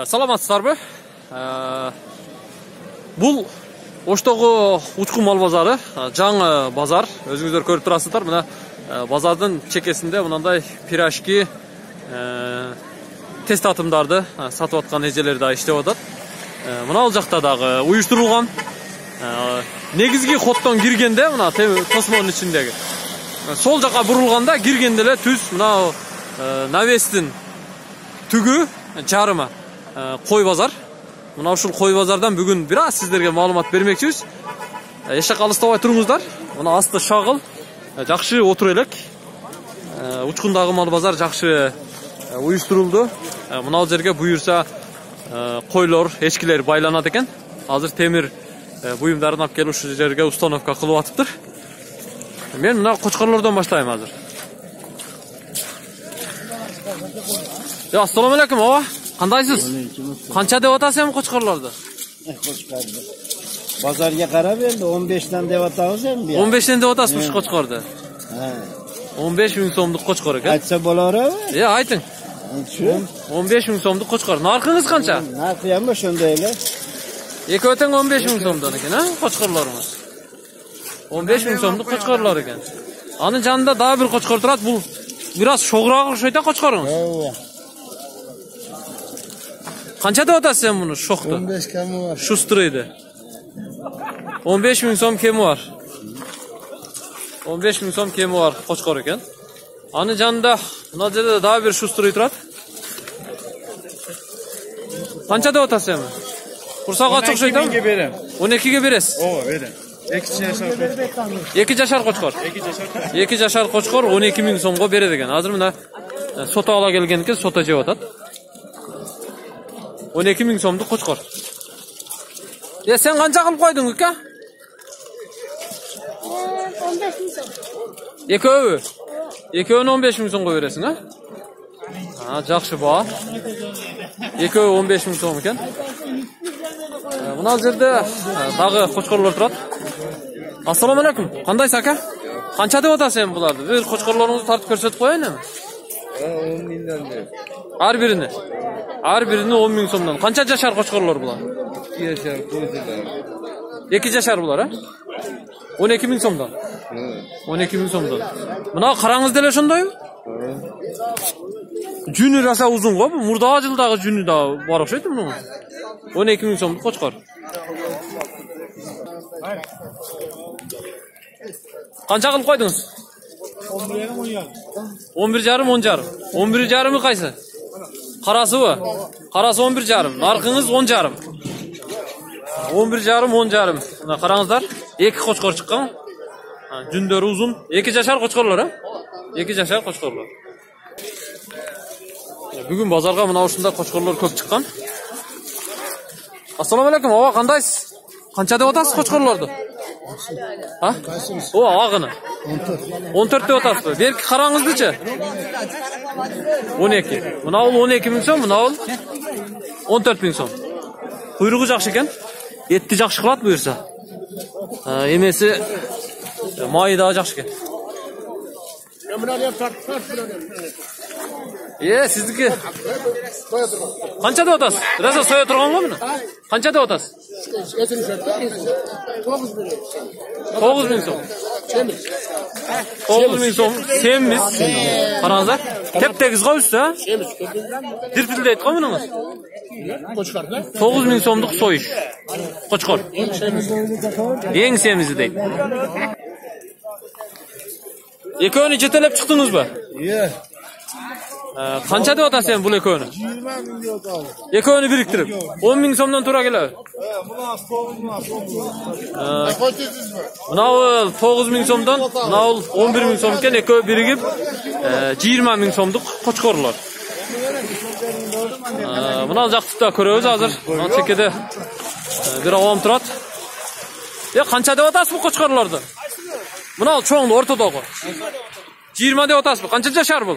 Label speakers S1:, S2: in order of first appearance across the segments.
S1: Саламатсыздарбы? Бул Оштогу учкун мал базары, жаңы базар. Өзүңүздөр көрүп турасыздар. Мына базардын чекесинде мындай пирожки, тест атымдарды сатып аткан эжелер да иштеп атат. Мына ал жакта дагы уюштурулган. Негизги хоттон киргенде мына тосмонун ичиндеги сол жака бурулганда киргенде эле түз мына навестин түгү жарыма кой базар. Мына ушул кой базардан бүгүн бир аз сиздерге маалымат бермекчибиз. Эшек алыстабай туруңуздар. Мына асты шагыл, жакшы отур элек. Учкундагы мал базар жакшы уюштурулду. Мына жерге буюрса койлор, эчкилер байланат экен. Азыр темир буюмдарын алып келип ушул жерге установка кылып атыптыр. Мен мына кочкорлордон баштайм азыр. Assalomu alaykum, ova. Qandaysiz? Qancha deb atasiz qo'chqorlarni?
S2: Qo'chqorni. Bozorga qarab endi 15 dan deb atamiz endi.
S1: 15 dan deb atasizmi qo'chqorni?
S2: Ha.
S1: 15 ming so'mlik qo'chqor ekan.
S2: Aytsa bo'laveradi?
S1: Yo'q, ayting. 15 ming so'mlik qo'chqor. Narxingiz qancha?
S2: Narxi ham shunday ele.
S1: Eko'teng 15 ming so'mdan ekan, ha? Qo'chqorlarimiz. 15 ming so'mlik qo'chqorlar ekan. Ani janida daha bir qo'chqor turadi. Bu biraz sho'g'roq o'xshaydi qo'chqoringiz. Qancha deb atasiz sen buni sho'xni?
S2: 15 kami var.
S1: Shu stiraydi. 15 ming so'm kemi var. 15 ming so'm kemi var qo'chqor ekan. Ani janida buna yerda daha bir shu stiray turadi. Qancha deb atasiz sen? Qursoq ochiq o'xshaydi.
S2: 12 ga berem.
S1: 12 ga berasiz.
S2: Ova, berem. 2 jashar qo'chqor.
S1: 2 jashar qo'chqor. 2 jashar qo'chqor 12 ming so'mga beradi ekan. Hozir mana sota ola kelganki sota jeb atat. 12 ming so'mlik qo'chqor. Sen qancha qilib qo'yding uka?
S3: 15 ming so'm.
S1: Ekovi. Ekovini 15 ming so'mga berasan, ha? Ha, yaxshi bo. Ekovi 15 ming so'm ekan. Buna yerda dag'i qo'chqorlar turadi. Assalomu alaykum. Qandaysiz aka? Qancha deb atasiz sen bularni? Bir qo'chqorlaringizni tartib ko'rsatib qo'yaymi?
S2: 10 mingdan deb.
S1: Har birini. Har birini 10 ming so'mdan. Qancha jashar qo'chqorlar bular?
S2: 2 jashar qo'ydilar.
S1: 2 jashar bular, ha? 12 ming so'mdan. 12 ming so'mdan. Buna qarangizda ele shundaymi? Juni rosa uzun-ku bu. Murda jildagi juni da bor o'xshaydi buni. 12 ming so'mlik qo'chqor. Qancha qilib qo'ydingiz? 11,5 10,5. 11,5 qaysi? Qarasibi? Qarasi 11,5. Narxingiz 10,5. 11,5 10,5. Mana qarangizlar, 2 qo'chqor chiqqan. Jundori uzun. 2 jashar qo'chqorlar, ha? 2 jashar qo'chqorlar. Bugun bozorga mana shunda qo'chqorlar ko'p chiqqan. Assalomu alaykum, ova, qandaysiz? Qancha deb atasiz qo'chqorlarni? Ha? O, og'ini. 14 deb atasizmi? Berki qarangizdichi? 12. Buna ol 12 ming so'm, buna ol 14 ming so'm. Quyrug'i yaxshi ekan. Etni yaxshi qiladi buyursa. Emesi moyi da yaxshi ekan. Sizniki. Qancha deb atasiz? Rosa soya turganmi buni? Qancha deb atasiz? 9 ming so'm. 9 ming so'm. Semiz. Qarangizlar. Tep-tegiz qo'ysiz, ha? Dirpildaydi qo'ymingiz. 9 ming so'mlik so'yish. Qo'chqor. Eng semizi deydi. Eko'ni chetelab chiqdingizmi?
S2: Yo'q.
S1: Qancha deb atasiz sen bu eko'ni?
S2: 20 ming deb atadim.
S1: Eko'ni biriktirib 10 ming so'mdan to'ra keladi. Buna 9 ming so'mdan, buna 11 ming so'm ekan, eko birigib 20 ming so'mlik qo'chqorlar. Buna jaqtda ko'ramiz hozir. Mana chekada bir avom turadi. Qancha deb atasiz bu qo'chqorlarni? Buna cho'ngni o'rtadagi. 20 deb atasizmi? Qancha jashar bu?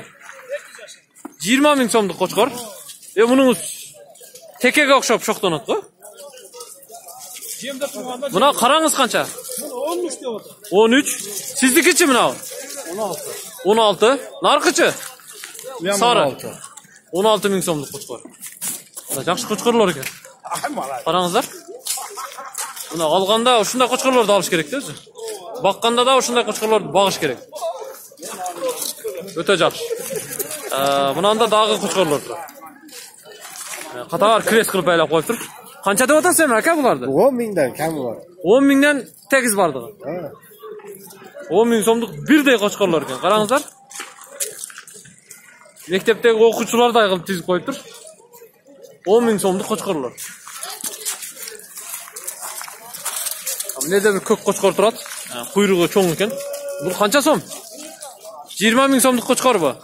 S1: 20 ming so'mlik qo'chqor. Buning tekega o'xshab sho'xtonatku. Buna qarangiz qancha?
S3: 13 deb o'tir.
S1: 13. Siznikichi buna?
S3: 16.
S1: 16. Narxichi? Sari. 16 ming so'mlik qo'chqor. Жакшы кочкорлор экен. Караңыздар. Мына алганда ушундай кочкорлорду алыш керек да өзү. Бакканда да ушундай кочкорлорду багыш керек. Өтө жакшы. Мынанда дагы кочкорлор тур. Катар крес кылып байлап коюптур. Канча деп атасыз эми ака буларды?
S2: 10 миңден кем бар.
S1: 10 миңден тегиз бардыгы. 10 миң сомдук бирдей кочкорлор экен. Караңыздар. Мектептеги окуучулардай кылып тизип коюптур. 10 миң сомдук кочкорлор. Эмнеде бир көк кочкор турат. Куйругу чоң экен. Бул канча сом? 20 миң сомдук кочкорбу?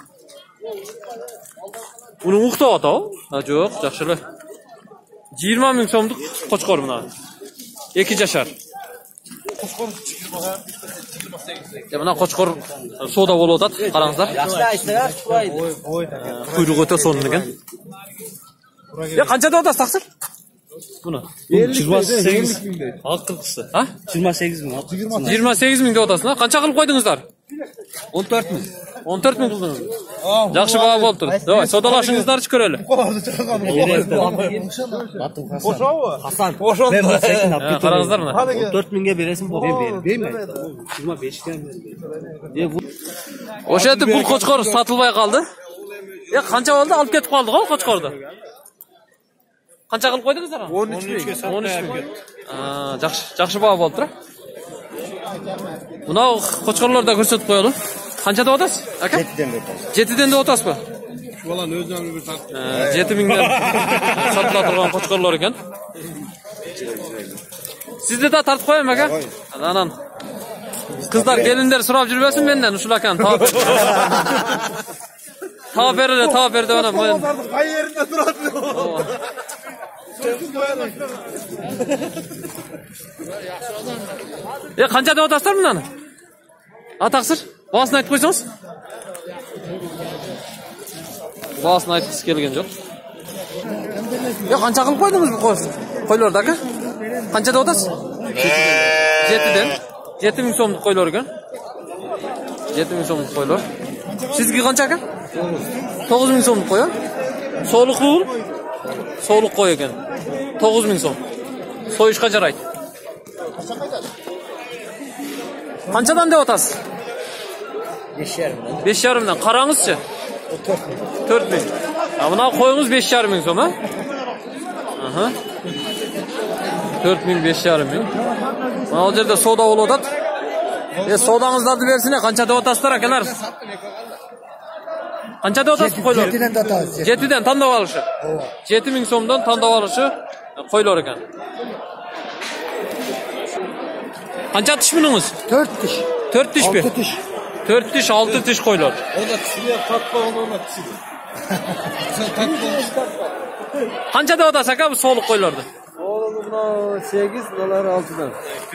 S1: Уну уктап атабы? Жок, жакшы эле. 20 миң сомдук кочкор мына. 2 жашар. Мына кочкор соода болуп атат, караңыздар. Куйругу өтө сонун экен. Канча деп атасыз таксыр? Буну
S2: 28 миңдей.
S1: Акылкысы.
S4: 28 миң.
S1: 28 миң деп атасың, канча кылып койдуңуздар?
S4: 14 миң.
S1: 14 миң кылдыңыз. Жакшы баа болуптур. Давай, содалашыңыздарчы көрөлү.
S2: Ошобу?
S4: Хасан.
S1: Караңыздар мына.
S4: 14 миңге бересиң болду. Мен бербейм. 25 ке.
S1: Ошентип бул кочкор сатылбай калды. Канча болду? Алып кетип калдык го кочкорду. Канча кылып койдуңуздар?
S2: 13 миң.
S1: 13 миң. Жакшы баа болуптур. Мына кочкорлорду да көрсөтүп коелу. Канча деп атасыз? Ака? 7ден деп атасызбы?
S2: Şu баланы өзүнөн бир тартып.
S1: 7 миңден сатыла турган кочкорлор экен. Сизди да тартып коем ака. Анан кыздар, келиндер сурап жүрбөсүн менден ушул аканы таап. Таап бер деп анан мен
S2: Кай жеринде турат?
S1: Канча деп атасыздар мынаны? Таксыр? Баасын айтып койсоңуз? Баасын айткысы келген жок. Канча кылып койдуңуз бул койлорду ака? Канча деп атасыз? 7ден. 7 миң сомдук койлор экен. 7 миң сомдук койлор. Сизге канча ака? 9 миң сомдук кой. Соолуктуу бул? Соолук кой экен. 9 миң сом. Союшка жарайт. Канчадан деп атасыз? 5,5. Караңызчы. 4 миң. Мына коюңуз 5,5 миң сом, 4 миң, 5,5 миң. Ал жерде соода болуп атат. Соодаңыздарды берсине, канча деп атасыздар акалар? Канча деп атасыз койлор?
S4: 7ден деп атабыз.
S1: 7ден тандап алышы. 7 миң сомдон тандап алышы койлор экен. Канча тиш мүнүңүз?
S4: 4 тиш.
S1: 4 тишпи?
S4: 6 тиш.
S1: 4 тиш, 6 тиш койлор.
S2: Onda tişiler tatlı ona tişiler.
S1: Канча деп атасыз ака бул соолук койлорду?
S2: Oğlum buna 8, dolar 6'dan.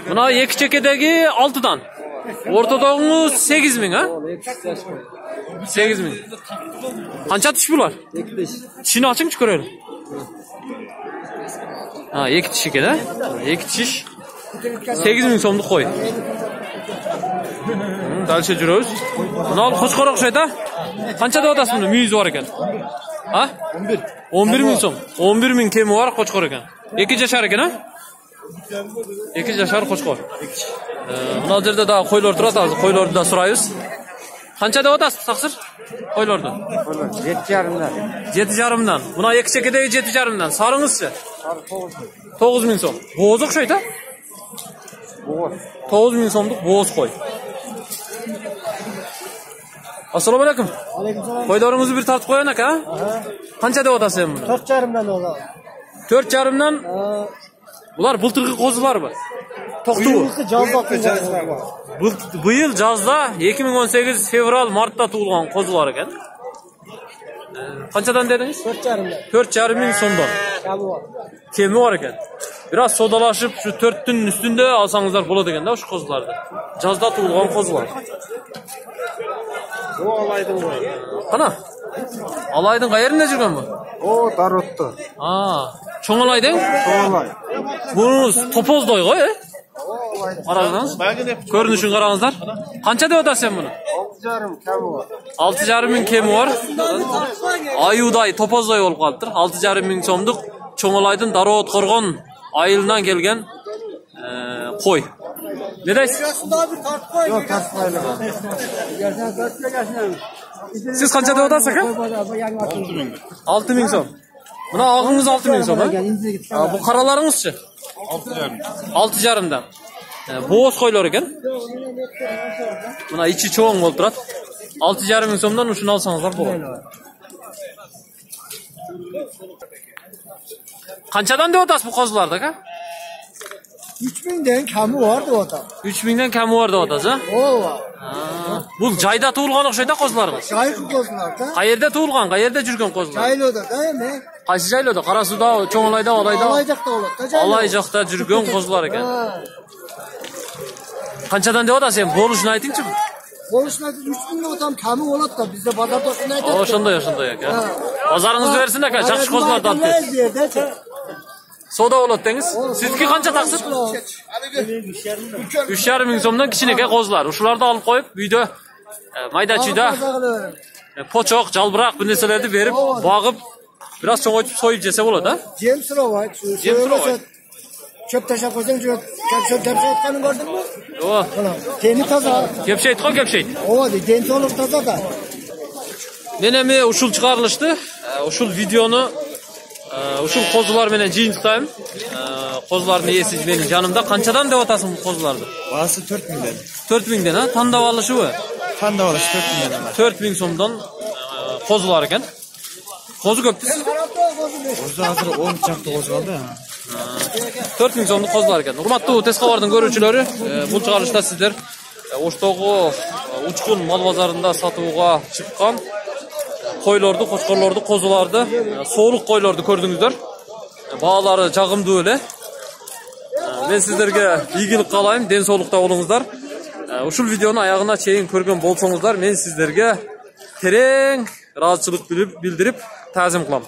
S1: Мына эки чекедеги 6дан. Ортодогуңуз 8 миң, 8 миң. Канча тиш булар?
S2: 2 diş.
S1: Тишини ачыңчы көрөлү. 2 тиш экен, 2 тиш. 8 миң сомдук кой. Дальше жүрөбүз. Мына кочкор окшойт, Канча деп атасыз муну? Мүйүзү бар экен. 11. 11 миң сом. 11 миң кеми бар кочкор экен. 2 жашар экен, 2 жашар кочкор. Мына жерде дагы койлор турат, азыр койлорду да сурайбыз. Канча деп атасыз таксыр? Койлорду?
S2: 7,5'dan.
S1: 7,5'dan. Мына эки чекедеги 7,5'dan. Сарыңызчы? 9 миң сом. Бооз окшойт,
S2: Boğaz.
S1: 9 миң сомдук бооз кой. Ассаламу алейкум. Койлорыңузду бир тартып коеюн ака. Канча деп атасыз эми?
S3: 4,5'dan ola.
S1: 4,5'dan. Булар былтыркы козуларбы? Токтубу? Быйыл жазда 2018 февраль мартта туулган козулар экен. Канчадан дедиңиз?
S3: 4,5'dan.
S1: 4,5 миң сомдон. Кеми бар экен. Бир аз содалашып, şu 4'түн үстүндө алсаңыздар болот экен да ушу козуларды. Жазда туулган козулар.
S2: O alaydın bu.
S1: Кана? Алайдын кай жеринде жүргөн бу?
S2: O Darot'ta.
S1: Чоң алайдың?
S2: Olay.
S1: Бунуз топоздой го, Караңыз. Көрүнүшүн караңыздар. Канча деп атасыз сен муну?
S2: 6,5 kemi var.
S1: 6,5 ming kemi var. Ayuday, topozday olup kalıptır. 6,5 ming so'mduk Çoңolaydın Darabot Qorgon ayılından gelgen koy. Ne deysiz?
S2: Yok tasmayla.
S1: Siz kança deb atasız aka? 6 ming so'm. Buna ağınız 6 ming so'm ha? Bu karalarınızçı? 6,5'dan. Boğaz koylar eken. Buna içi çoğun bolup turat. 6,5 ming so'mdan uşunu alsanızlar bolot. Kançadan deb atasız bu kozlarda aka?
S2: 3.000'den kemi vardı o da.
S1: 3 mingden kemi var deb atasız ha?
S2: O var.
S1: Bu jayda tuğulgan okşayda kozlarınız.
S2: Çaylı kozlar da.
S1: Qayerda tuğulgan, qayerda жүрген kozlar?
S2: Çaylı'da değil mi?
S1: Qaysi jayloda? Qarasuda, Çoңolayda, Alayda.
S2: Alaycak'ta olur da Çaylı.
S1: Alaycak'ta жүрген kozlar eken. Kançadan deb atasız sen? Boluşunu aytingchi.
S2: Konuşmadı 3.000'de otam kemi olur da bizde pazarda şunu aytadi.
S1: Oşondoy aka. Pazarыңызды берсин aka, жакшы kozlardı alып ket. Soda bolot dеңиz. Sizniki kança taksın? 3,5 ming so'mdan kichинекей kozlar. Uşulardı alıp koyup uyda mayda-chuyda poçok, jalbırak bir nerselerdi berip, bağıp biraz çoğoytup soyup jese bolot ha?
S2: Jem sıravay.
S1: Jem sıravay.
S2: Çöp taşa koysan çöp atkanını gördün mü?
S1: O.
S2: Teni taza.
S1: Kepşeyt koy kepşeyt.
S2: O de teni olup taza da.
S1: Menemi uşul çıkarılıştı. Uşul videonu uşul kozular menen жыйынтыктайм. Kozuların iyesi benim canımda. Kançadan deb atasın bu kozulardı?
S2: Bağısı 4.000'den.
S1: 4 mingden ha? Tandap alışı bu.
S2: Tanda orası 4.000'den var.
S1: 4 ming so'mdan kozular eken. Kozu köptüz.
S2: Kozu hazır 10 çaktı kozu kaldı ya.
S1: 4 ming so'mduk kozular eken. Urmаттуу Teskabardын көрүүчүлөрү, бул чыгарылышта сиздер Оштогу Учкун мал базарында сатууга чыккан koylordu, koçkorlordu, kozulарды, soğuluk koylordu gördüңүздөр. Баалары жагымдуу эле. Мен сиздерге ийгилик каалайм, ден соолукта болуңуздар. Ушул видеону аягына чейин көргөн болсоңуздар, мен сиздерге терең ыраазычылык билдирип таазим кылам.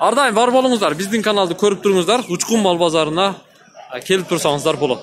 S1: Ар дайым бар болуңуздар, биздин каналды көрүп туруңуздар, Учкун мал базарына келип турсаңыздар болот.